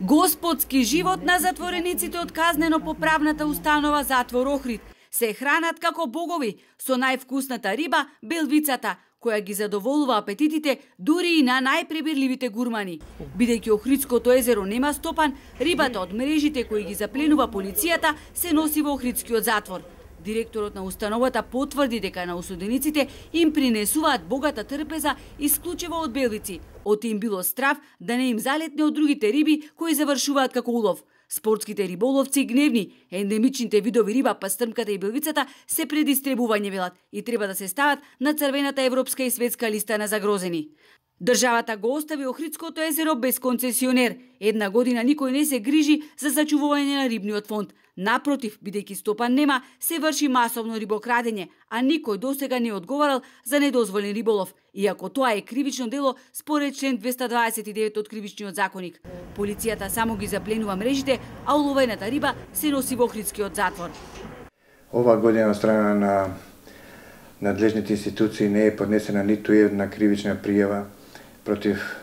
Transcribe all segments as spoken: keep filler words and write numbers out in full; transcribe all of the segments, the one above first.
Господски живот на затворениците од казнено-поправната установа Затвор Охрид се хранат како богови со највкусната риба, белвицата, која ги задоволува апетитите дури и на најпребирливите гурмани. Бидејќи Охридското езеро нема стопан, рибата од мрежите кои ги запленува полицијата се носи во Охридскиот затвор. Директорот на установата потврди дека на осудениците им принесуваат богата трпеза исклучиво од белвици, од им било страв да не им залетне од другите риби кои завршуваат како улов. Спортските риболовци гневни, ендемичните видови риба, пастрмката и белвицата се предистребување велат и треба да се стават на црвената европска и светска листа на загрозени. Државата го остави Охридското езеро без концесионер. Една година никој не се грижи за зачувување на рибниот фонд. Напротив, бидејќи стопан нема, се врши масовно рибокрадење, а никој досега не одговарал за недозволен риболов, иако тоа е кривично дело според член двеста дваесет и девет од Кривичниот законик. Полицијата само ги запленува мрежите, а уловената риба се носи во Охридскиот затвор. Ова година од страна на надлежните институции не е поднесена ниту една кривична пријава против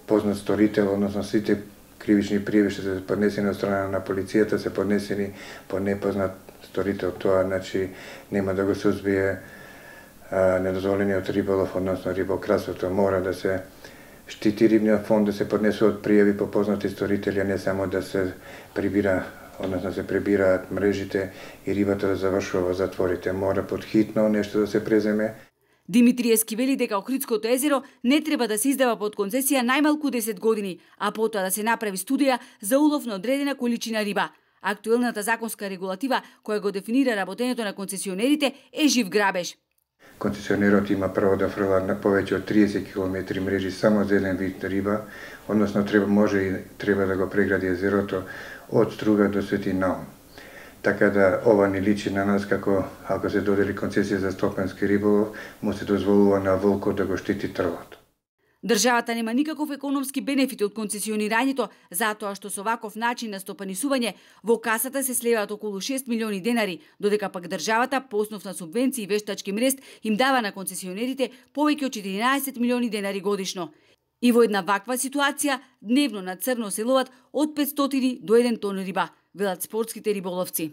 познат сторител, односно сите кривични пријави што се поднесени од страна на полицијата се поднесени по непознат сторител. Тоа значи нема да го сузбие недозволениот риболов, односно рибократството. Мора да се штити рибниот фонд, да се поднесуваат пријави по познати сторители, а не само да се прибира, односно се прибираат мрежите и рибата да завршува во затворите. Мора подхитно нешто да се преземе. Димитриевски вели дека Охридското езеро не треба да се издава под концесија најмалку десет години, а потоа да се направи студија за улов на одредена количина риба. Актуелната законска регулатива која го дефинира работењето на концесионерите е жив грабеж. Концесионерот има право да фрла на повеќе од триесет километри мрежи само за еден вид риба, односно треба може и треба да го прегради езерото од Струга до Свети Наум. Така да ова ни личи на нас како ако се додели концесија за стопански риболов, му се дозволува на волкот да го штити трвот. Државата нема никаков економски бенефит од концесионирањето, затоа што со ваков начин на стопанисување во касата се слеваат околу шест милиони денари, додека пак државата по основ на субвенции и вештачки мрест им дава на концесионерите повеќе од четиринаесет милиони денари годишно. И во една ваква ситуација дневно на црно се ловат од петстотини до еден тон риба, велат спортските риболовци.